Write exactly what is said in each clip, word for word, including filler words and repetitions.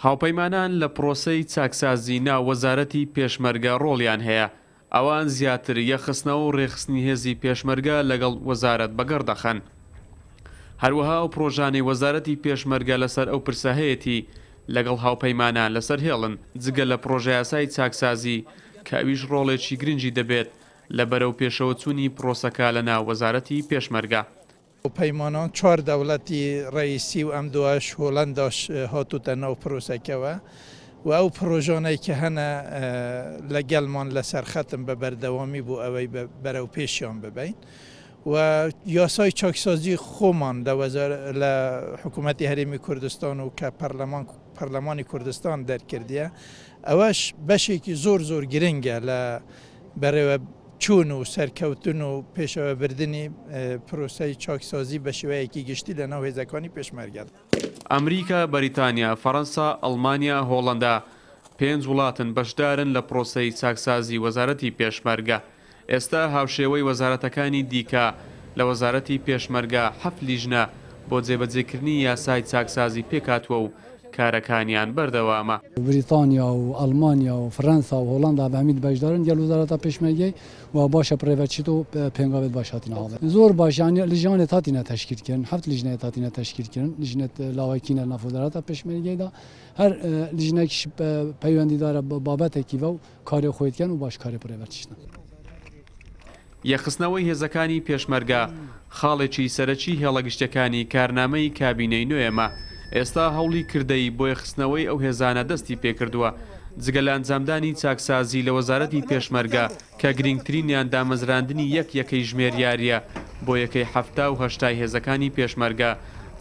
هاوپەیمانان لە پرۆسەی چاکسازی ناو وەزارەتی پێشمەرگە ڕۆڵیان هەیە، ئەوان زیاتر یەکخستنەوە و ڕێکخستنی هێزی پێشمەرگە لەگەڵ وەزارەت بەگەڕ دەخەن. هەروەها ئەو پرۆژانەی وەزارەتی پێشمەرگە لەسەر ئەو پرسە هەیەتی لەگەڵ هاوپەیمانان لەسەر هێڵن، جگە لە پرۆژەیاسای چاکسازی کە ئەویش ڕۆڵێکی گرنگی دەبێت لە بەرەو پێشەوەچوونی پرۆسەکە لەناو وەزارەتی پێشمەرگە. پەیمانان چوار دەوڵەتی ڕئیسی و ئەم دواش هۆڵەنداش هاتووتە ناو پرۆسەکەوە و ئەو پرۆژانەی کە هەنە لەگەڵمان لەسەر خەتم بە بەردەوامی بۆ ئەوەی بەرەو پێشیان ببین و یاسای چاکسازی خۆمان لە حکوومەتی هەرێمی کوردستان و کە پەرلەمان پەرلەمانی کوردستان دەرکردیە، ئەوەش بەشێکی زۆر زۆر گرنگە لە بەڕێوە چوون و سەرکەوتن و پێشەوەبردنی پرۆسەی چاکسازی بە شێوەیەکی گشتی لە ناو هێزەکانی پێشمەرگە. ئەمریکا، بەریتانیا، فەرەنسا، ئەڵمانیا، هۆڵەندا پێنج وڵاتن بەشدارن لە پرۆسەی چاکسازی وەزارەتی پێشمەرگە. ئێستا هاوشێوەی وەزارەتەکانی دیکە لە وەزارەتی پێشمەرگە حەفت لیژنە بۆ جێبەجێکردنی یاسای چاکسازی پێکهاتووە و کارەکانیان بەردەوامە. بریتانیا و ئەڵمانیا و فەرەنسا و هۆڵندا بە هەمیت بەشدارن گەل وەزارەتە پێشمەرگەی و باشە پرێڤەچیت و پێنگاوێت باش هاتینە هاڵێ. زۆر باش، یعنی لیژنێت هاتینە تەشکیل کردن، حەفت لیژنێت هاتینە تەشکیل کردن، لیژنێت لاوەکینە ناف وەزارەتە پێشمەرگەیدا، هەر لیژنێکیش پەیوەندیدارە بابەتێکی و کاری خۆی دکەن و باش کاری پرێڤەچیشتن. یەکخستنەوەی هێزەکانی پێشمەرگە خاڵێکی سەرەکی هێڵە گشتەکانی کارنامەی کابینەی نوێمە. ئێستا هەوڵی کردەی بۆ یەکخستنەوەی ئەو هێزانە دەستی پێکردووە، جگە لە ئەنجامدانی چاکسازی لە وەزارەتی پێشمەرگە کە گرنگترینیان دامەزراندنی یەک یەکەی ژمێریاریە بۆ یەکەی حەفتا و هەشتای هێزەکانی پێشمەرگە.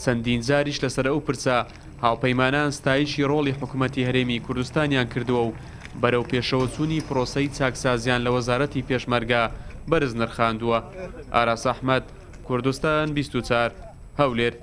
چەندین جاریش لەسەر ئەو پرسە هاوپەیمانان ستایشی ڕۆڵی حکوومەتی هەرێمی کوردستانیان کردووە و بەرەو پێشەوەچوونی پرۆسەی چاکسازیان لە وەزارەتی پێشمەرگە بەرز نرخاندووە. ئاراس ئەحمەد، کوردستان بیست و چوار، هەولێر.